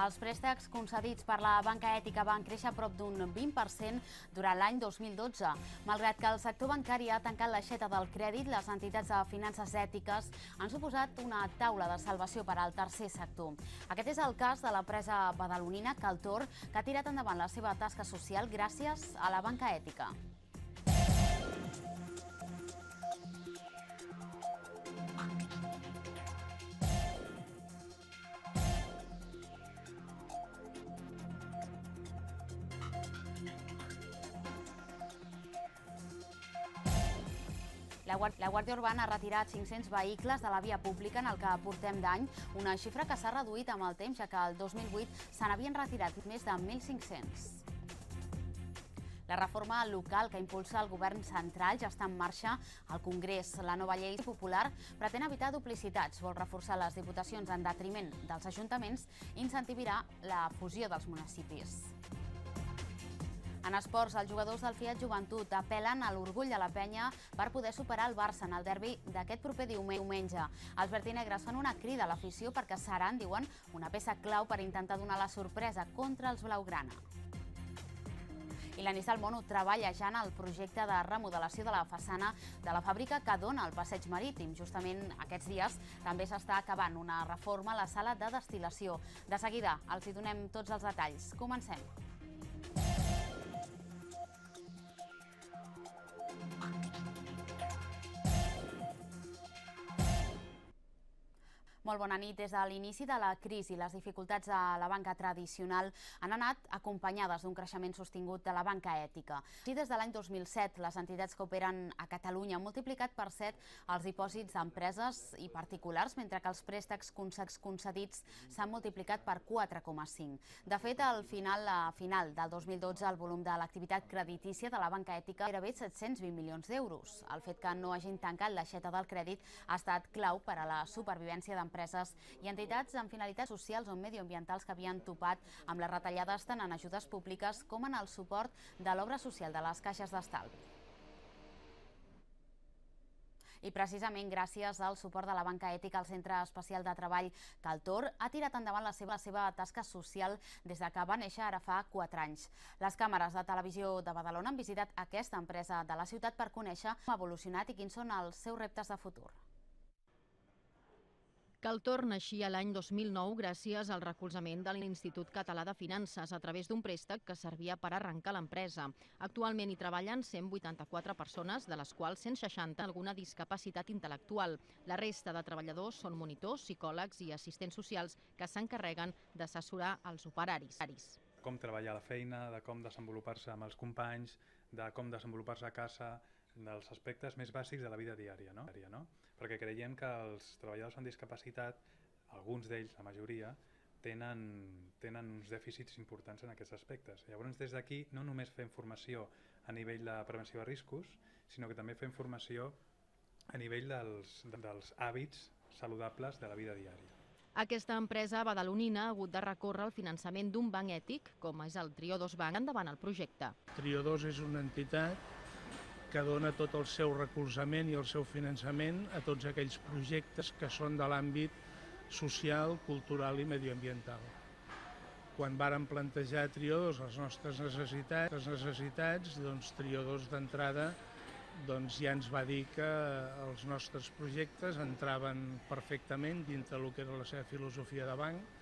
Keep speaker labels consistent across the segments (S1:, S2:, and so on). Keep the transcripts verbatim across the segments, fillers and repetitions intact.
S1: Els préstecs concedits per la banca ètica van créixer a prop d'un vint per cent durant l'any dos mil dotze. Malgrat que el sector bancari ha tancat l'aixeta del crèdit, les entitats de finances ètiques han suposat una taula de salvació per al tercer sector. Aquest és el cas de l'empresa badalonina Caltor, que ha tirat endavant la seva tasca social gràcies a la banca ètica. La Guàrdia Urbana ha retirat cinc-cents vehicles de la via pública en el que portem d'any, una xifra que s'ha reduït amb el temps, ja que el dos mil vuit se n'havien retirat més de mil cinc-cents. La reforma local que impulsa el govern central ja està en marxa al Congrés. La nova llei popular pretén evitar duplicitats, vol reforçar les diputacions en detriment dels ajuntaments i incentivarà la fusió dels municipis. En esports, els jugadors del Fiat Joventut apel·len a l'orgull de la penya per poder superar el Barça en el derbi d'aquest proper diumenge. Els vertinegres fan una crida a l'afició perquè seran, diuen, una peça clau per intentar donar la sorpresa contra els blaugrana. I la Nissan Mono treballa ja en el projecte de remodelació de la façana de la fàbrica que dona al passeig marítim. Justament aquests dies també s'està acabant una reforma a la sala de destil·lació. De seguida els hi donem tots els detalls. Comencem. Molt bona nit. Des de l'inici de la crisi, les dificultats de la banca tradicional han anat acompanyades d'un creixement sostingut de la banca ètica. Així, des de l'any dos mil set, les entitats que operen a Catalunya han multiplicat per set els dipòsits d'empreses i particulars, mentre que els préstecs concedits s'han multiplicat per quatre coma cinc. De fet, al final, a final del dos mil dotze, el volum de l'activitat creditícia de la banca ètica era bé set-cents vint milions d'euros. El fet que no hagin tancat l'aixeta del crèdit ha estat clau per a la supervivència d'empreses empreses i entitats amb finalitats socials o medioambientals que havien topat amb les retallades tant en ajudes públiques com en el suport de l'obra social de les caixes d'estalvi. I precisament gràcies al suport de la banca ètica, el Centre Especial de Treball Caltor ha tirat endavant la seva, la seva tasca social des de que va néixer ara fa quatre anys. Les càmeres de televisió de Badalona han visitat aquesta empresa de la ciutat per conèixer com ha evolucionat i quins són els seus reptes de futur.
S2: Caltor naixia l'any dos mil nou gràcies al recolzament de l'Institut Català de Finances a través d'un préstec que servia per arrencar l'empresa. Actualment hi treballen cent vuitanta-quatre persones, de les quals cent seixanta alguna discapacitat intel·lectual. La resta de treballadors són monitors, psicòlegs i assistents socials que s'encarreguen d'assessorar els operaris.
S3: Com treballar la feina, de com desenvolupar-se amb els companys, de com desenvolupar-se a casa, dels aspectes més bàsics de la vida diària, no? Perquè creiem que els treballadors amb discapacitat, alguns d'ells, la majoria, tenen, tenen uns dèficits importants en aquests aspectes. Llavors, des d'aquí no només fem formació a nivell de prevenció de riscos, sinó que també fem formació a nivell dels, dels hàbits saludables de la vida diària.
S2: Aquesta empresa badalonina ha hagut de recórrer al finançament d'un banc ètic, com és el Triodos Bank, endavant el projecte.
S4: Triodos és una entitat que dona tot el seu recolzament i el seu finançament a tots aquells projectes que són de l'àmbit social, cultural i medioambiental. Quan vàrem plantejar a Triodos les nostres necessitats, les necessitats doncs Triodos d'entrada doncs ja ens va dir que els nostres projectes entraven perfectament dintre del que era la seva filosofia de banc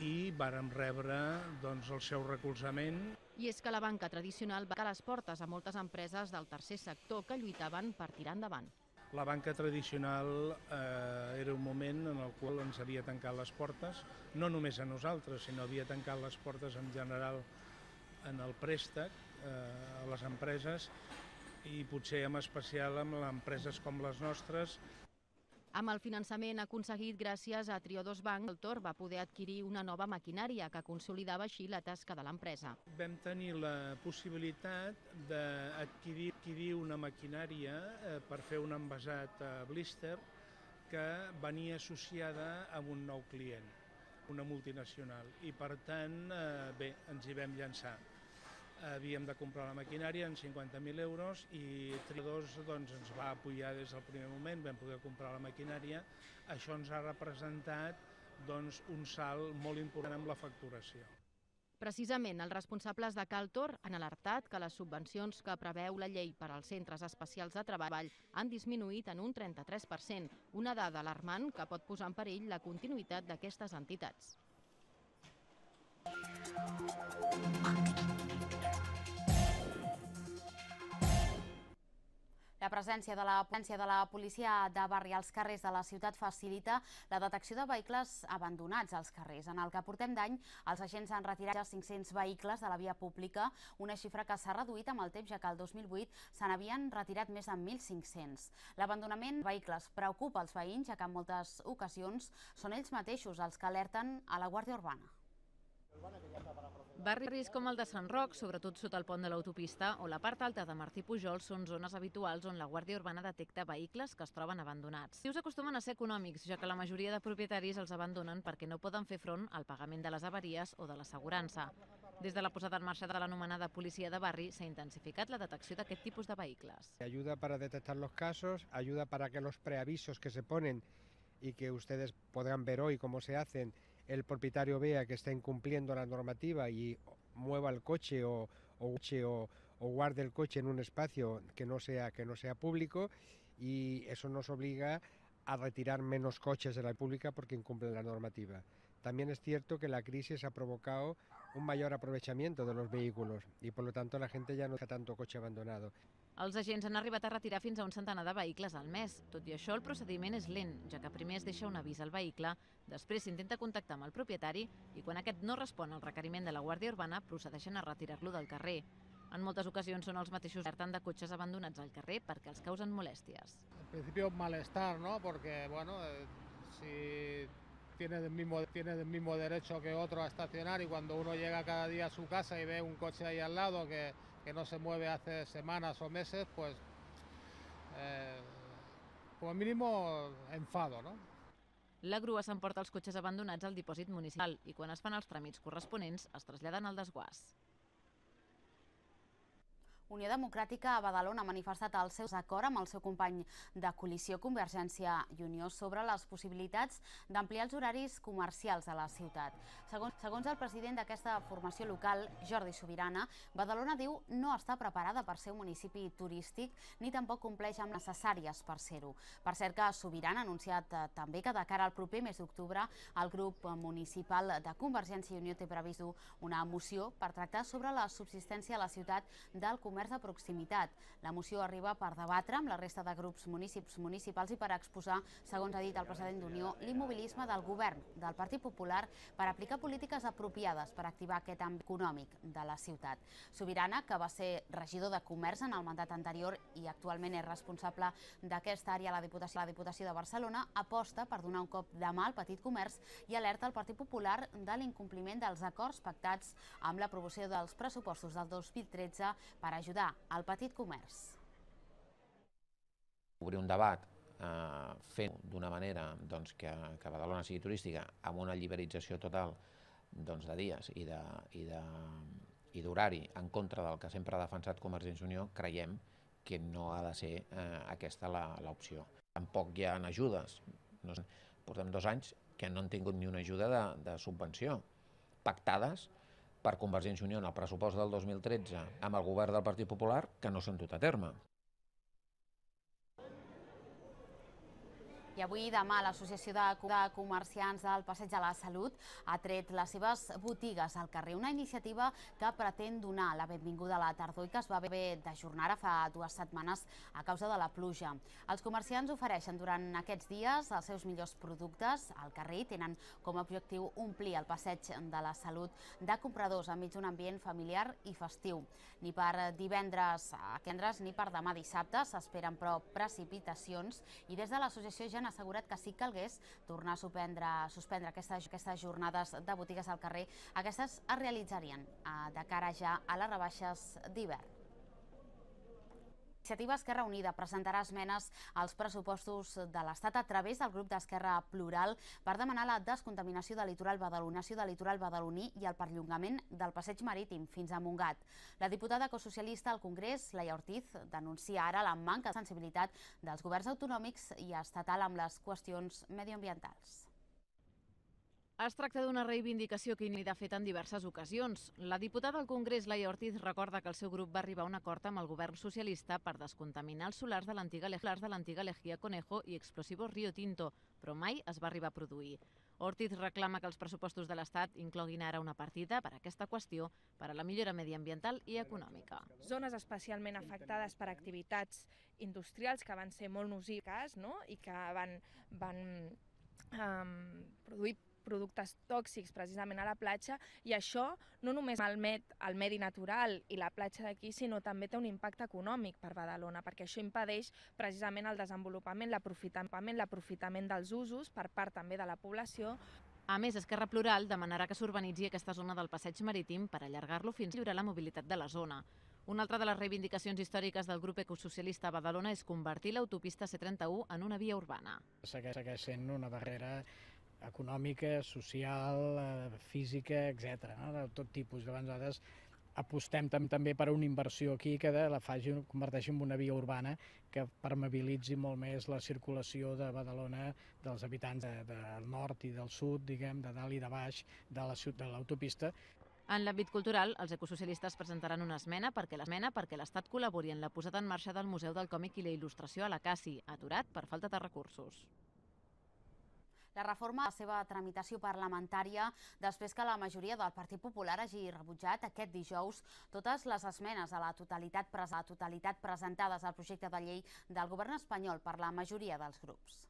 S4: i vàrem rebre doncs, el seu recolzament.
S2: I és que la banca tradicional va tancar les portes a moltes empreses del tercer sector que lluitaven per tirar endavant.
S4: La banca tradicional eh, era un moment en el qual ens havia tancat les portes, no només a nosaltres, sinó havia tancat les portes en general en el préstec eh, a les empreses i potser en especial amb empreses com les nostres.
S2: Amb el finançament aconseguit gràcies a Triodos Bank, Caltor va poder adquirir una nova maquinària que consolidava així la tasca de l'empresa.
S4: Vam tenir la possibilitat d'adquirir una maquinària per fer un envasat a blister que venia associada amb un nou client, una multinacional, i per tant, bé, ens hi vam llançar. Havíem de comprar la maquinària en cinquanta mil euros i Triodos doncs, ens va apoyar des del primer moment, vam poder comprar la maquinària. Això ens ha representat doncs, un salt molt important amb la facturació.
S2: Precisament, els responsables de Caltor han alertat que les subvencions que preveu la llei per als centres especials de treball han disminuït en un trenta-tres per cent, una dada alarmant que pot posar en perill la continuïtat d'aquestes entitats.
S1: La presència de la, presència de la policia de barri als carrers de la ciutat facilita la detecció de vehicles abandonats als carrers. En el que portem d'any, els agents han retirat cinc-cents vehicles de la via pública, una xifra que s'ha reduït amb el temps, ja que el dos mil vuit se n'havien retirat més de mil cinc-cents. L'abandonament de vehicles preocupa els veïns, ja que en moltes ocasions són ells mateixos els que alerten a la Guàrdia Urbana.
S5: Barris com el de Sant Roc, sobretot sota el pont de l'autopista, o la part alta de Martí Pujol són zones habituals on la Guàrdia Urbana detecta vehicles que es troben abandonats. Els acostumen a ser econòmics, ja que la majoria de propietaris els abandonen perquè no poden fer front al pagament de les avaries o de l'assegurança. Des de la posada en marxa de l'anomenada policia de barri s'ha intensificat la detecció d'aquest tipus de vehicles.
S6: Ayuda para detectar los casos, ayuda para que los preavisos que se ponen y que ustedes podrán ver hoy cómo se hacen, el propietario vea que está incumpliendo la normativa y mueva el coche o, o, o, o guarde el coche en un espacio que no sea, que no sea público, y eso nos obliga a retirar menos coches de la pública porque incumplen la normativa. También es cierto que la crisis ha provocado un mayor aprovechamiento de los vehículos y por lo tanto la gente ya no deja tanto coche abandonado.
S5: Els agents han arribat a retirar fins a un centenar de vehicles al mes. Tot i això, el procediment és lent, ja que primer es deixa un avís al vehicle, després s'intenta contactar amb el propietari i quan aquest no respon al requeriment de la Guàrdia Urbana procedeixen a retirar-lo del carrer. En moltes ocasions són els mateixos que alerten de cotxes abandonats al carrer perquè els causen molèsties.
S7: Al principio malestar, ¿no? Porque, bueno, eh, si tiene el mismo, tiene el mismo derecho que otro a estacionar y cuando uno llega cada día a su casa y ve un coche ahí al lado que que no se mueve hace semanas o meses, pues eh, como mínimo enfado, ¿no?
S5: La grua s'emporta els cotxes abandonats al dipòsit municipal i quan es fan els tràmits corresponents es traslladen al desguàs.
S1: Unió Democràtica a Badalona ha manifestat el seu desacord amb el seu company de coalició Convergència i Unió sobre les possibilitats d'ampliar els horaris comercials a la ciutat. Segons, segons el president d'aquesta formació local, Jordi Subirana, Badalona diu no està preparada per ser un municipi turístic ni tampoc compleix amb necessàries per ser-ho. Per cert que Subirana ha anunciat eh, també que de cara al proper mes d'octubre el grup municipal de Convergència i Unió té previst una moció per tractar sobre la subsistència a la ciutat del comerç comerç de proximitat. La moció arriba per debatre amb la resta de grups municipis municipals i per exposar, segons ha dit el president d'Unió, l'immobilisme del govern del Partit Popular per aplicar polítiques apropiades per activar aquest àmbit econòmic de la ciutat. Subirana, que va ser regidor de Comerç en el mandat anterior i actualment és responsable d'aquesta àrea a la Diputació, la Diputació de Barcelona, aposta per donar un cop de mà al petit comerç i alerta al Partit Popular de l'incompliment dels acords pactats amb l'aprovació dels pressupostos del dos mil tretze per ajudar ajudar al petit comerç.
S8: Obrir un debat eh, fent d'una manera doncs, que, que Badalona sigui turística amb una liberalització total doncs, de dies i d'horari en contra del que sempre ha defensat Convergència i Unió, creiem que no ha de ser eh, aquesta l'opció. Tampoc hi ha ajudes. No sé, portem dos anys que no han tingut ni una ajuda de, de subvenció pactades per Convergència i Unió en el pressupost del dos mil tretze amb el govern del Partit Popular que no s'han dut a terme.
S1: I avui i demà l'Associació de Comerciants del Passeig de la Salut ha tret les seves botigues al carrer, una iniciativa que pretén donar la benvinguda a la tardor i que es va haver d'ajornar fa dues setmanes a causa de la pluja. Els comerciants ofereixen durant aquests dies els seus millors productes al carrer i tenen com a objectiu omplir el Passeig de la Salut de compradors enmig d'un ambient familiar i festiu. Ni per divendres a divendres ni per demà dissabte s'esperen però precipitacions i des de l'associació ja han assegurat que si calgués tornar a suspendre, suspendre aquestes, aquestes jornades de botigues al carrer, aquestes es realitzarien eh, de cara ja a les rebaixes d'hivern. Iniciativa Esquerra Unida presentarà esmenes als pressupostos de l'Estat a través del grup d'Esquerra Plural per demanar la descontaminació del litoral badalonació del litoral badaloní i el perllongament del passeig marítim fins a Montgat. La diputada ecosocialista al Congrés, Laia Ortiz, denuncia ara la manca de sensibilitat dels governs autonòmics i estatal amb les qüestions mediambientals.
S5: Es tracta d'una reivindicació que n'hi ha fet en diverses ocasions. La diputada al Congrés, Laia Ortiz, recorda que el seu grup va arribar a un acord amb el govern socialista per descontaminar els solars de l'antiga Lejía Conejo i explosivos Rio Tinto, però mai es va arribar a produir. Ortiz reclama que els pressupostos de l'Estat incloguin ara una partida per a aquesta qüestió per a la millora mediambiental i econòmica.
S9: Zones especialment afectades per activitats industrials que van ser molt nocives, no? I que van, van um, produir productes tòxics precisament a la platja, i això no només malmet el medi natural i la platja d'aquí, sinó també té un impacte econòmic per Badalona, perquè això impedeix precisament el desenvolupament, l'aprofitament, l'aprofitament dels usos per part també de la població.
S5: A més, Esquerra Plural demanarà que s'urbanitzi aquesta zona del passeig marítim per allargar-lo fins a millorar la mobilitat de la zona. Una altra de les reivindicacions històriques del grup ecosocialista a Badalona és convertir l'autopista C trenta-u en una via urbana.
S10: Segueix sent una barrera econòmica, social, física, etcètera, no? De tot tipus. Llavors, nosaltres apostem també per una inversió aquí que la faci, converteixi en una via urbana que permeabilitzi molt més la circulació de Badalona, dels habitants de, del nord i del sud, diguem, de dalt i de baix de la de l'autopista.
S5: En l'àmbit cultural, els ecosocialistes presentaran una esmena perquè l'esmena perquè l'Estat col·labori en la posada en marxa del Museu del Còmic i la Il·lustració a la Cassi, aturat per falta de recursos.
S1: La reforma a la seva tramitació parlamentària després que la majoria del Partit Popular hagi rebutjat aquest dijous totes les esmenes a la totalitat, a la totalitat presentades al projecte de llei del govern espanyol per la majoria dels grups.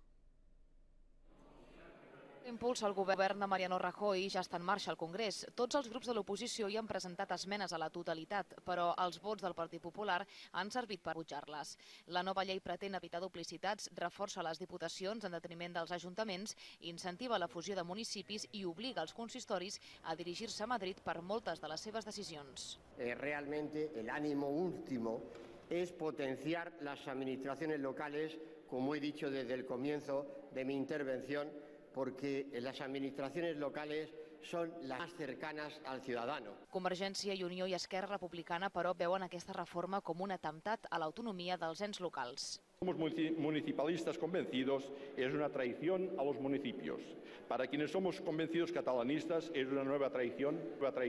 S11: L'impuls al govern de Mariano Rajoy ja està en marxa al Congrés. Tots els grups de l'oposició hi han presentat esmenes a la totalitat, però els vots del Partit Popular han servit per rebutjar-les. La nova llei pretén evitar duplicitats, reforça les diputacions en detriment dels ajuntaments, incentiva la fusió de municipis i obliga els consistoris a dirigir-se a Madrid per moltes de les seves decisions.
S12: Eh, realmente el ánimo último es potenciar las administraciones locales, como he dicho desde el comienzo de mi intervención, porque las administraciones locales son las más cercanas al ciudadano.
S11: Convergència i Unió i Esquerra Republicana, però, veuen aquesta reforma com un atemptat a l'autonomia dels ens locals.
S13: Somos municipalistas convencidos, es una traición a los municipios. Para quienes somos convencidos catalanistas, es una nueva traición, nueva traición